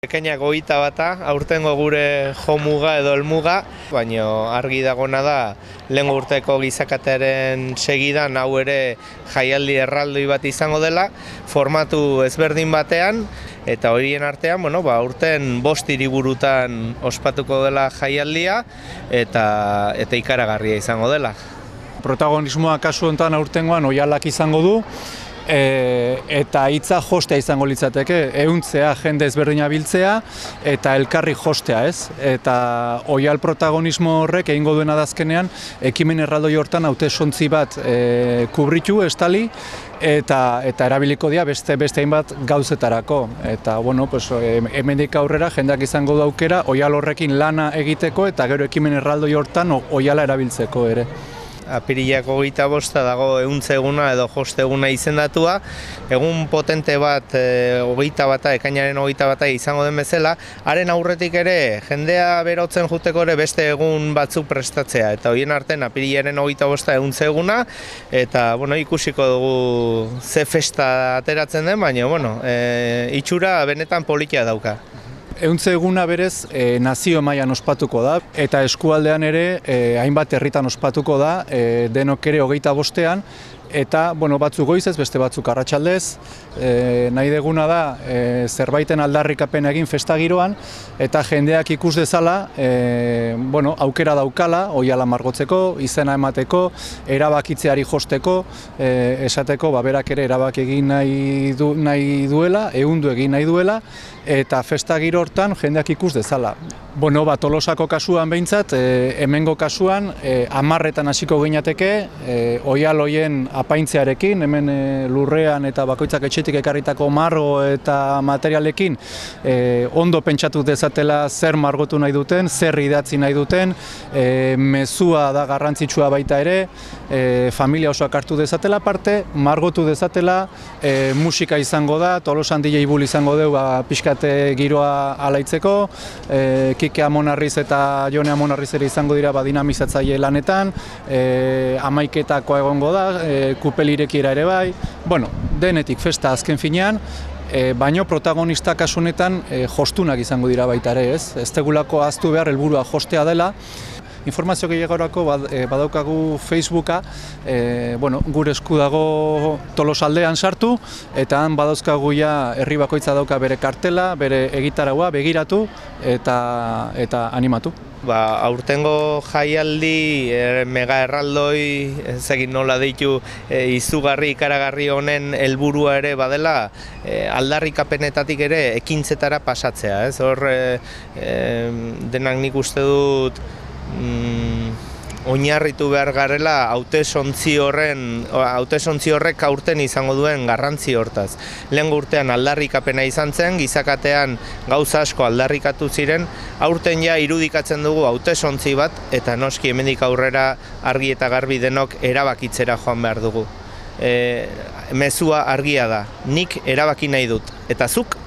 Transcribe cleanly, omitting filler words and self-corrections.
Ekainak 21, aurtengo gure jomuga edo helmuga, baina argi dagona da lehen urteko gizakatearen segidan hau ere jaialdi erraldoi bat izango dela, formatu ezberdin batean, eta horien artean, urten 5 hiriburutan ospatuko dela jaialdia eta ikaragarria izango dela. Protagonismoa kasu honetan aurtengoan Oihalak izango du, eta hitza jostea izango litzateke, ehuntzea jende ezberdina biltzea eta elkarri jostea, ez? Eta Oihal protagonismo horrek egingo duena dazkenean ekimen erraldoi hortan hautesontzi bat kubritu, estali, eta erabiliko dira beste hainbat gauzetarako. Eta hemendik aurrera jendeak izango du aukera Oihal horrekin lana egiteko eta gero ekimen erraldoi hortan Oihala erabiltzeko ere. Apirilak 25 dago ehuntze eguna edo joste eguna izendatua. Egun potente bat, ekainaren 21 izango den bezala, haren aurretik ere jendea berotzen juteko ere beste egun batzuk prestatzea. Eta horien artean apirilaren 25 ehuntze eguna, eta ikusiko dugu ze festa ateratzen den, baina itxura benetan politia dauka. Ehuntze eguna berez nazio mailan ospatuko da, eta eskualdean ere hainbat herritan ospatuko da, denok ere 25ean, eta batzuk goizez, beste batzuk arratsaldez. Nahi deguna da zerbaiten aldarrikapen egin festa giroan, eta jendeak ikus dezala aukera daukala Oihala margotzeko, izena emateko, erabakitzeari josteko, esateko berak ere erabaki egin nahi duela, ehundu egin nahi duela, eta festa giro hortan jendeak ikus dezala. Tolosako kasuan behintzat, hemengo kasuan 10etan hasiko ginateke, Oihal hoien apaintzearekin, hemen lurrean eta bakoitzak etxetik ekarritako margo eta materialekin ondo pentsatu dezatela zer margotu nahi duten, zer idatzi nahi duten, mezua da garrantzitsua baita ere, familia osoak hartu dezatela parte, margotu dezatela, musika izango da, Tolosan DJ Bull izango dugu pixkate giroa alaitzeko, Kike Amonarriz eta Jone Amonarriz ere izango dira dinamizatzaile lanetan, 11etakoa egongo da, kupel irekiera ere bai, denetik festa azken finean, baino protagonista kasu honetan jostunak izango dira baita ere, ez? Ez degulako ahaztu behar helburua jostea dela. Informazio gehiagorako badaukagu Facebooka, gure esku dago Tolosaldean sartu, eta han badauzkagu herri bakoitza dauka bere kartela, bere egitaraua, begiratu eta animatu. Aurtengo jaialdi mega erraldoi, ez egin nola ditu, izugarri ikaragarri honen helburua ere badela aldarrikapenetatik ere ekintzetara pasatzea. Hor denak nik uste dut oinarritu behar garela hautesontzi horrek aurten izango duen garrantzi hortaz. Lehen urtean aldarrikapena izan zen, gizakatean gauza asko aldarrikatu ziren, aurten irudikatzen dugu hautesontzi bat, eta noski hemendik aurrera argi eta garbi denok erabakitzera joan behar dugu. Mezua argia da, nik erabaki nahi dut, eta zuk